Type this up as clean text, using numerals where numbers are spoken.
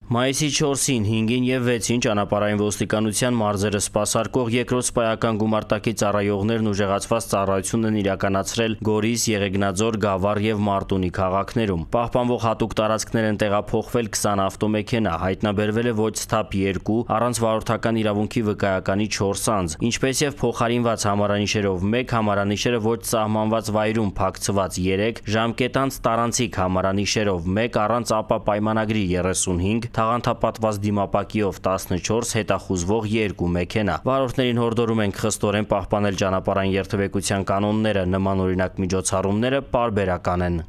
Մայիսի 4-ին, 5-ին և 6-ին ճանապարհային ոստիկանության մարզերը սպասարկող երկրորդ սպայական գումարտակի ծառայողներն ուժեղացված ծառայություն են իրականացրել Գորիս, Եղեգնաձոր, Գավառ և Մարտունի քաղաքներում։ Պահպանվող հատուկ տարածքներ են տեղափոխվել 20 ավտոմեքենա, հայտնաբերվել է ոչ սթափ 2, առանց վարորդական իրավունքի վկայականի 4 անձ, ինչպես եւ փոխարինված համարանիշերով 1, համարանիշերը ոչ սահմանված վայրում փակցված 3, ժամկետանց տարանցիկ համարանիշերով 1, առանց ԱՊԱ պայմանագրի 35, թաղանթապատված դիմապակիով 14, հետախուզվող 2 մեքենա։ Վարորդներին հորդորում ենք խստորեն պահպանել ճանապարհային երթևեկության կանոնները, նմանօրինակ միջոցառումները պարբերական են։